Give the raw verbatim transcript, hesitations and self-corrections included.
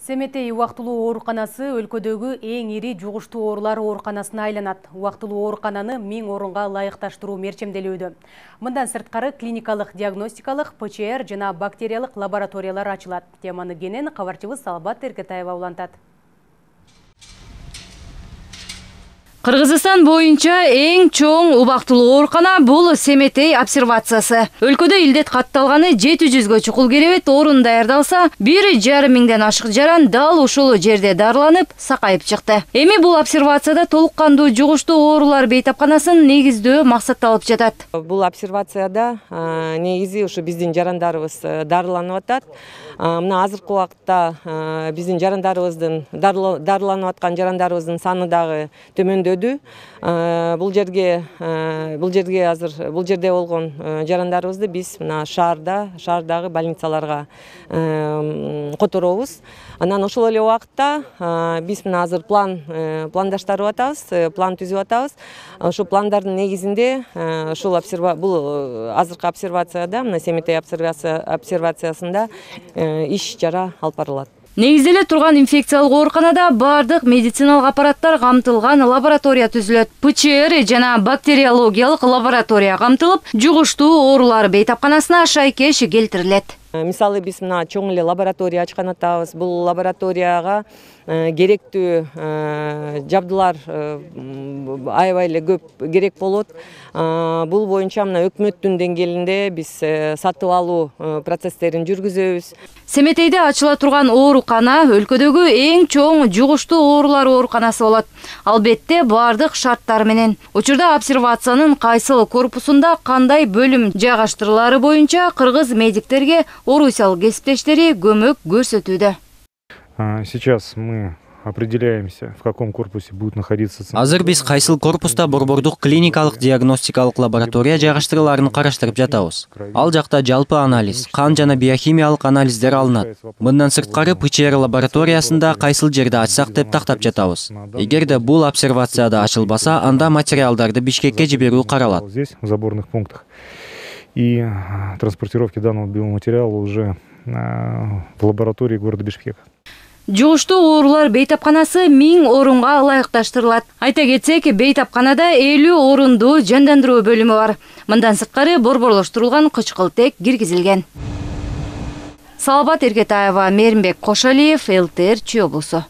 Семетей убактылуу ооруканасы өлкөдөгү эң ири жугуштуу оорулар ооруканасына айланат. Убактылуу оорукананы миң орунга ылайыкташтыруу мерчемделүүдө. Мындан сырткары клиникалык, диагностикалык, П Ч Р жана бактериялык лабораториялар ачылат. Теманы кенен кабарчыбыз Салбат Эргетаева улантат. Кыргызстан боюнча эң чоң убактылуу оорукана бул Семетей обсервациясы. Өлкөдө илдет катталганы жети жүзгө чукул керебет орун даярдалса, бир жарым миңден ашык жаран дал ушул жерде дарыланып, сакайып чыкты. Эми бул обсервацияда толук кандуу жугуштуу оорулар бейтапканасын негиздөө максатталып жатат. Бул обсервацияда негизи ушу биздин жарандарыбыз дарыланып атат. Мына азыркы убакытта биздин жарандарыбыздын дарыланып аткан жарандарыбыздын саны дагы төмөндөдү. Бул жерге бул жерге азыр бул жерде болгон жарандарыбызды биз мына шаарда, шаардагы больницаларга которобуз. Анан ошол эле убакытта биз мына азыр план пландаштырып атабыз, план түзүп атабыз. Ошол пландардын негизинде ушул бул азыркы обсервацияда, мына Семетей обсервациясында иш чара алып барылат. Негизделе турган инфекциялык ооруканада бардык медициналык аппараттар камтылган лаборатория түзүлөт. П Ч Р жана бактериологиялык лаборатория камтылып, жугуштуу оорулар бейтапканасына шайкеш келтирилет. Мисалы биз мына чоң эле лаборатория ачкан атабыз. Бул лабораторияга керектүү жабдылар аябай эле көп керек болот. Бул боюнча мына өкмөттүн деңгээлинде биз сатып алуу процесстерин жүргүзөбүз. Семетейде ачыла турган оорукана өлкөдөгү эң чоң жугуштуу оорулар ооруканасы болот. Албетте бардык шарттар менен. Учурда обсервациянын кайсыл корпусунда кандай бөлүм жайгаштырылары боюнча кыргыз медиктерге орусиялык кесиптештери көмөк көрсөтүүдө. Сейчас мы определяемся, в каком корпусе будет находиться. Азыр биз кайсыл корпуста борбордук клиникалык диагностикалык лаборатория жайгаштырыларын караштырып жатабыз. Ал жакта жалпы анализ, кан жана биохимиялык анализдер алынат. Мындан сырткары П Ч Р лабораториясында кайсыл жерде ачсак деп тактап жатабыз. Эгерде бул обсервацияда ачылбаса, анда материалдарды Бишкекке жиберүү каралат. Здесь в заборных пунктах. И транспортировки данного биоматериала уже в лаборатории города Бишкек. Жугуштуу оорулар бейтапканасы миң орунга ылайыкташтырылат. Айта кетсек, бейтапканада элүү орундуу жандандыруу бөлүмү бар. Мындан сырткары борборлоштурулган кычкылтек киргизилген. Салбат Эргетаева, Мээринбек Кошалиев, Л Т Р Чүй облусу.